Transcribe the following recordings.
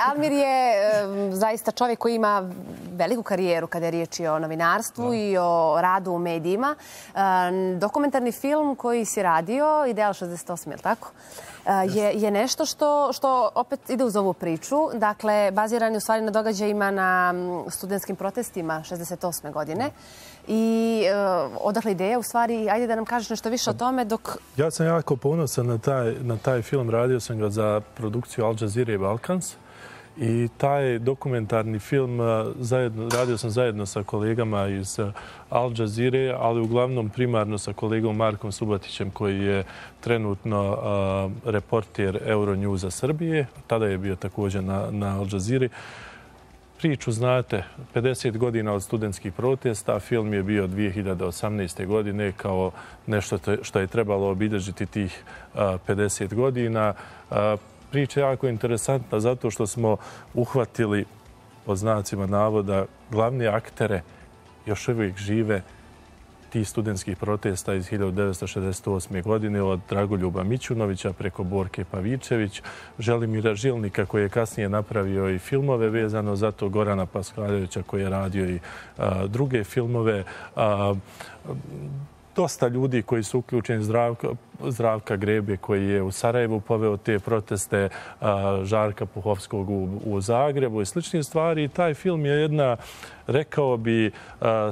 Almir je zaista čovjek koji ima veliku karijeru kada je riječ o novinarstvu i o radu u medijima. Dokumentarni film koji si radio, Ideal 68, je li tako? Je nešto što opet ide uz ovu priču. Dakle, baziran je u stvari na događajima na studentskim protestima 68. godine. I odakle ideja, u stvari, ajde da nam kažeš nešto više o tome dok... Ja sam jako ponosan na taj film. Radio sam ga za produkciju Al Jazeera i Balkans. I taj dokumentarni film radio sam zajedno sa kolegama iz Al Jazeere, ali uglavnom primarno sa kolegom Markom Subatićem, koji je trenutno reporter Euronewsa Srbije. Tada je bio također na Al Jazeera. Priču znate, 50 godina od studentskih protesta. Film je bio 2018. godine kao nešto što je trebalo obilježiti tih 50 godina. Priča je jako interesantna zato što smo uhvatili, pod znacima navoda, glavne aktere još uvijek žive tih studentskih protesta iz 1968. godine, od Dragoljuba Mićunovića preko Borke Pavičević, Želimira Žilnika koji je kasnije napravio i filmove vezano za to, Gorana Paskaljevića koji je radio i druge filmove. Dosta ljudi koji su uključeni, Zdravka Grebe koji je u Sarajevu poveo te proteste, Žarka Puhovskog u Zagrebu i slične stvari. I taj film je jedna, rekao bi,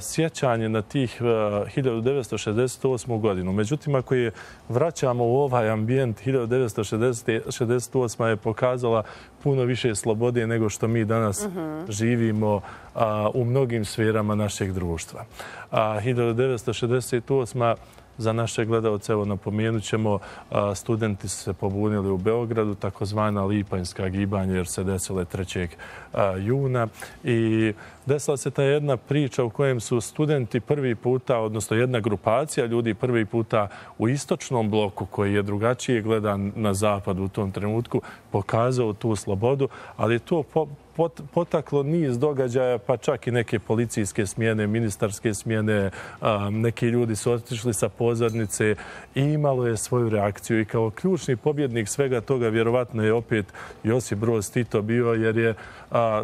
sjećanje na tih 1968. godinu. Međutim, ako je vraćamo u ovaj ambijent, 1968. je pokazala puno više slobode nego što mi danas živimo u mnogim sferama našeg društva. 1968. Za naše gledalce, evo napomenut ćemo, studenti su se pobunili u Beogradu, takozvana Lipanjska gibanja, jer se desile 3. juna. I desila se ta jedna priča u kojem su studenti prvi puta, odnosno jedna grupacija ljudi prvi puta u istočnom bloku, koji je drugačije gledan na zapadu u tom trenutku, pokazao tu slobodu, ali je to potaklo niz događaja, pa čak i neke policijske smjene, ministarske smjene, neki ljudi su otišli sa pozornice i imalo je svoju reakciju. I kao ključni pobjednik svega toga vjerovatno je opet Josip Broz Tito bio, jer je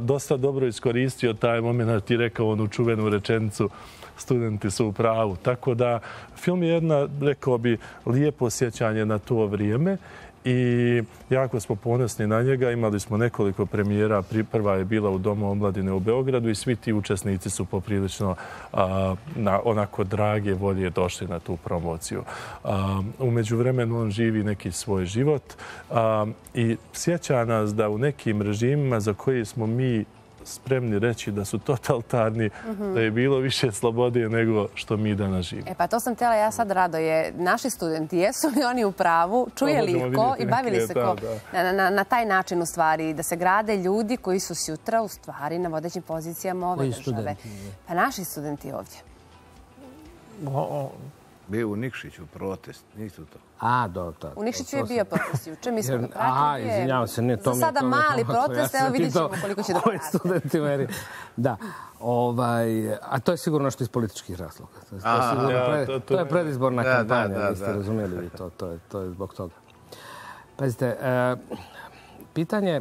dosta dobro iskoristio taj moment i rekao onu čuvenu rečenicu studenti su u pravu. Tako da film je jedna, rekao bi, lijepo sjećanje na to vrijeme. I jako smo ponosni na njega. Imali smo nekoliko premijera. Prva je bila u Domu omladine u Beogradu i svi ti učesnici su poprilično na onako drage volje došli na tu promociju. U međuvremenu on živi neki svoj život i sjeća nas da u nekim režimima za koje smo mi spremni reći da su totalitarni, da je bilo više slobode nego što mi danas živimo. Pa to sam htjela ja sad, Radoje. Naši studenti, jesu li oni u pravu? Čuje li ih ko i bavili se ko? Na taj način, u stvari, da se grade ljudi koji su sutra, u stvari, na vodećim pozicijama ove države. Pa naši studenti ovdje. Bio u Nikšiću protest, nisu to. Dobro. U Nikšiću je bio protest juče, mi smo ga pratili. Aha, izvinjavam se, ne to mi je... Za sada mali protest, evo vidjet ćemo koliko će da pravi. Studenti meri. Da. A to je sigurno nešto iz političkih razloga. To je predizborna kampanja, niste razumijeli vi to. To je zbog toga. Pazite, pitanje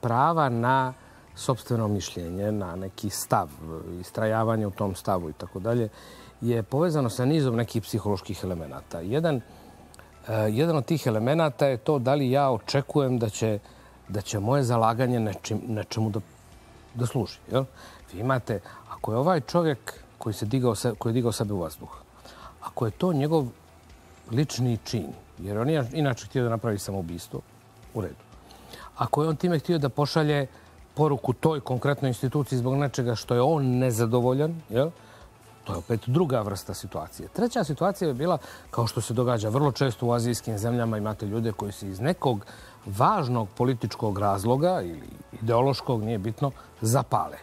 prava na sopstveno mišljenje, na neki stav, istrajavanje u tom stavu i tako dalje, je povezano sa nizom nekih psiholoških elemenata. Jedan od tih elemenata je to da li ja očekujem da će moje zalaganje nečemu da služi. Vi imate, ako je ovaj čovjek koji je digao sebe u vazduh, ako je to njegov lični čin, jer on je inače htio da napravi samoubistvo, u redu. Ako je on time htio da pošalje poruku toj konkretnoj instituciji zbog nečega što je on nezadovoljan, to je opet druga vrsta situacije. Treća situacija je bila, kao što se događa vrlo često u azijskim zemljama, imate ljude koji se iz nekog važnog političkog razloga ili ideološkog, nije bitno, zapale.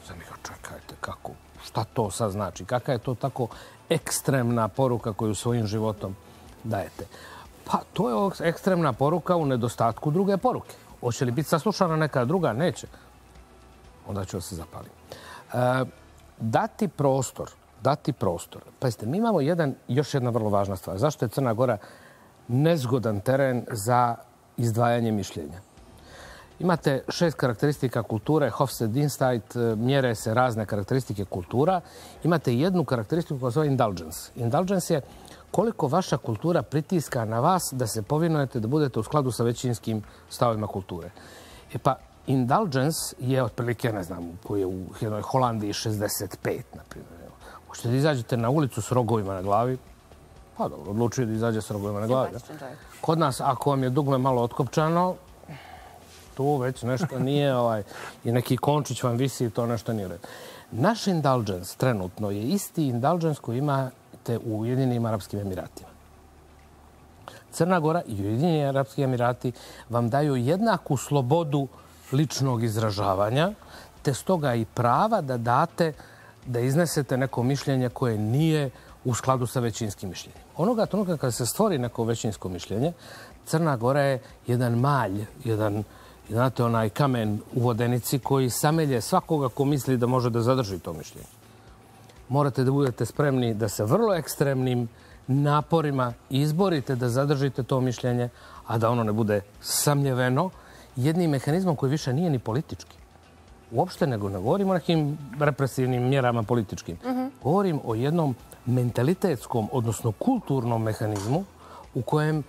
Sam ih čekajte, kako, šta to sad znači? Kakva je to tako ekstremna poruka koju svojim životom dajete? Pa to je ekstremna poruka u nedostatku druge poruke. Hoće li biti saslušana neka druga? Neće. Onda ću da se zapalim. Dati prostor. Pazite, mi imamo još jedna vrlo važna stvar. Zašto je Crna Gora nezgodan teren za izdvajanje mišljenja? Imate 6 karakteristika kulture, Hofstede-Dinstad, mjere se razne karakteristike kultura. Imate jednu karakteristiku koja se zove indulgence. Indulgence je koliko vaša kultura pritiska na vas da se povinujete da budete u skladu sa većinskim stavovima kulture. E pa, indulgence je otprilike, ne znam, koji je u jednoj Holandiji 65, na primjer. Hoćete da izađete na ulicu s rogovima na glavi? Pa dobro, odlučuje da izađe s rogovima na glavi. Kod nas, ako vam je dugme malo otkopčano, tu već nešto nije, i neki končić vam visi i to nešto nije u redu. Naš indulgence trenutno je isti indulgence koji imate u Ujedinjenim Arapskim Emiratima. Crna Gora i Ujedinjeni Arapski Emirati vam daju jednaku slobodu ličnog izražavanja, te stoga i prava da date, da iznesete neko mišljenje koje nije u skladu sa većinskim mišljenjem. Onoga trenutka kada se stvori neko većinsko mišljenje, Crna Gora je jedan malj, znate, onaj kamen u vodenici koji samelje svakoga ko misli da može da zadrži to mišljenje. Morate da budete spremni da se vrlo ekstremnim naporima izborite da zadržite to mišljenje, a da ono ne bude samljeveno jednim mehanizmom koji više nije ni politički. Uopšte ne govorim o nekim represivnim mjerama političkim. Govorim o jednom mentalitetskom, odnosno kulturnom mehanizmu u kojem,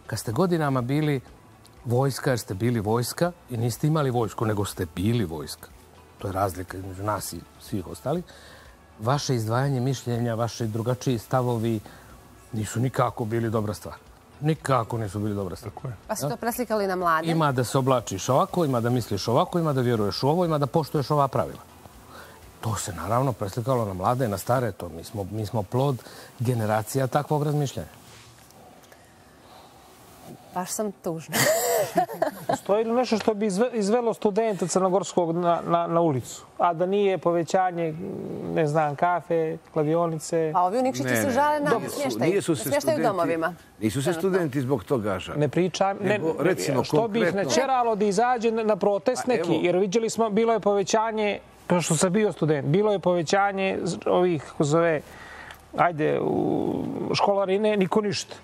kad ste godinama bili vojska, jer ste bili vojska i niste imali vojsku, nego ste bili vojska. To je razlika između nas i svih ostalih. Vaše izdvajanje mišljenja, vaši drugačiji stavovi nisu nikako bili dobra stvar. Nikako nisu bili dobra stvar. Pa su to preslikali na mlade? Ima da se oblačiš ovako, ima da misliš ovako, ima da vjeruješ u ovo, ima da poštuješ ova pravila. To se naravno preslikalo na mlade i na stare. Mi smo plod generacija takvog razmišljanja. Baš sam tužna. Postoji li nešto što bi izvelo studenta crnogorskog na ulicu? A da nije povećanje, ne znam, kafe, kladionice? A ovi u Nikšiću se žale na smještaj u domovima. Nisu se studenti zbog toga žali. Ne pričam. Što bi ih načeralo da izađe na protest neki? Jer vidjeli smo, bilo je povećanje, što sam bio student, bilo je povećanje ovih, kako zove, školarine, niko ništa.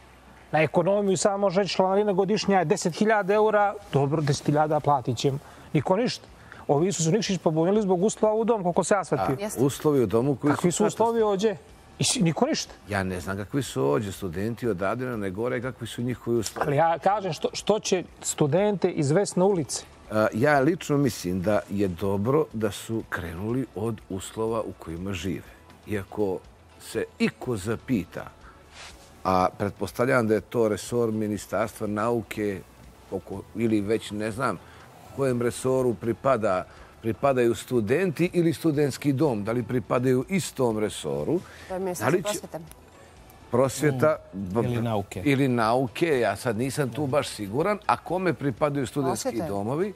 Na ekonomiju samo može reći članarina godišnja je 10.000 eura, dobro, 10.000 platit ćemo. Niko ništa. Ovi su Nikšić pobunili zbog uslova u dom, koliko se ja shvatio. Uslovi u domu koji su... Kakvi su uslovi ođe? Niko ništa. Ja ne znam kakvi su ođe. Studenti odavde ne gore kakvi su njihovi uslovi. Ali ja kažem što će studente izvesti na ulici. Ja lično mislim da je dobro da su krenuli od uslova u kojima žive. Iako se iko zapita, a pretpostavljam da je to resor Ministarstva nauke ili već ne znam kojem resoru pripadaju studenti ili studentski dom. Da li pripadaju istom resoru? To je Ministarstvo prosvete. Prosvjeta ili nauke. Ja sad nisam tu baš siguran. A kome pripadaju studentski domovi?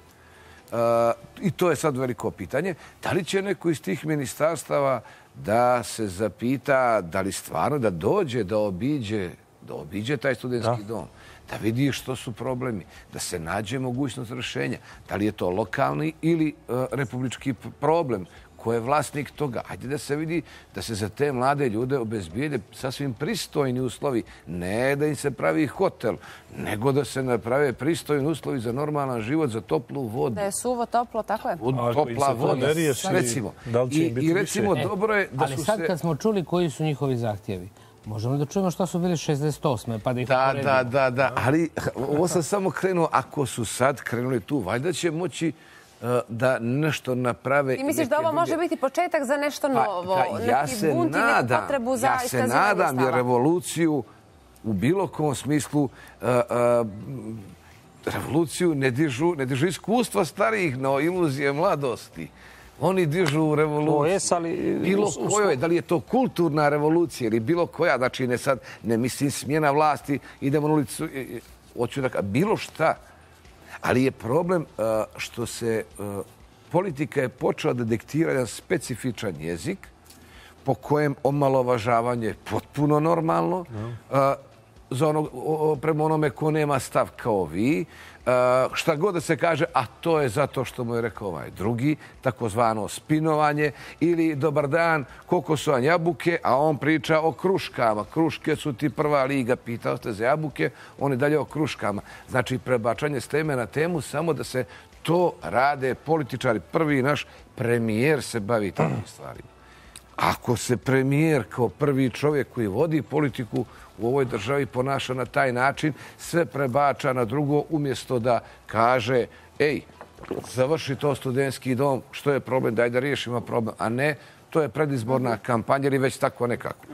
I to je sad veliko pitanje. Da li će neko iz tih ministarstava da se zapita da li stvarno da dođe, da obiđe taj studentski dom, da vidi što su problemi, da se nađe mogućnost rješenja. Da li je to lokalni ili republički problem, ko je vlasnik toga. Ajde da se vidi da se za te mlade ljude obezbijede sasvim pristojni uslovi. Ne da im se pravi hotel, nego da se naprave pristojni uslovi za normalan život, za toplu vodu. Da je suvo, toplo, tako je. Topla voda, recimo. I recimo, dobro je da su se... Ali sad kad smo čuli koji su njihovi zahtjevi, možemo da čujemo što su bili 68. pa da ih uporedimo. Da. Ali ovo sam samo krenuo. Ako su sad krenuli tu, valjda će moći da nešto naprave. Ti misliš da ovo može biti početak za nešto novo? Neki bunt i neku potrebu za iskazivanje stava? Ja se nadam jer revoluciju u bilo kom smislu revoluciju ne dižu iskustva starijih, no iluzije mladosti. Oni dižu revoluciju. Bilo kojoj, da li je to kulturna revolucija ili bilo koja, znači ne mislim smjena vlasti, idemo na ulicu, hoću da bilo šta. Ali je problem što se politika je počela da dektira jedan specifičan jezik po kojem omalovažavanje je potpuno normalno prema onome ko nema stav kao vi. Šta god da se kaže, a to je zato što mu je rekao ovaj drugi, takozvano spinovanje ili dobar dan, koliko su vam jabuke, a on priča o kruškama. Kruške su ti prva liga, pitao ste za jabuke, on je dalje o kruškama. Znači prebačanje s teme na temu samo da se to rade političari. Prvi naš premijer se bavi takvim stvarima. Ako se premijer kao prvi čovjek koji vodi politiku u ovoj državi ponaša na taj način, sve prebača na drugo umjesto da kaže ej, završi to studentski dom, što je problem, daj da riješimo problem, a ne to je predizborna kampanja ili već tako nekako.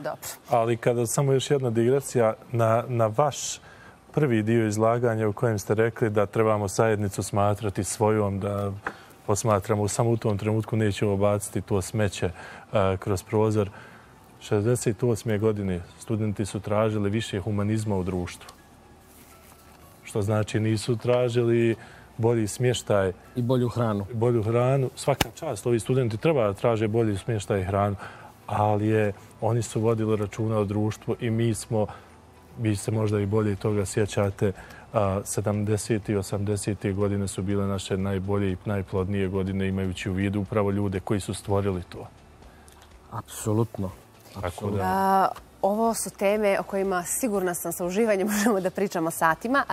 Ali kada samo još jedna digresija na vaš prvi dio izlaganja u kojem ste rekli da trebamo zajednicu smatrati svojom, da posmatramo samo u tom trenutku nećemo baciti to smeće kroz prozor. 68. godine studenti su tražili više humanizma u društvu. Što znači nisu tražili bolji smještaj. I bolju hranu. Bolju hranu. Svaka čast. Ovi studenti treba da traže bolji smještaj i hranu, ali oni su vodili računa o društvu i vi se možda i bolje toga sjećate, 70. i 80. godine su bile naše najbolje i najplodnije godine, imajući u vidu upravo ljude koji su stvorili to. Apsolutno. Ovo su teme o kojima sigurna sam sa uživanjem možemo da pričamo satima.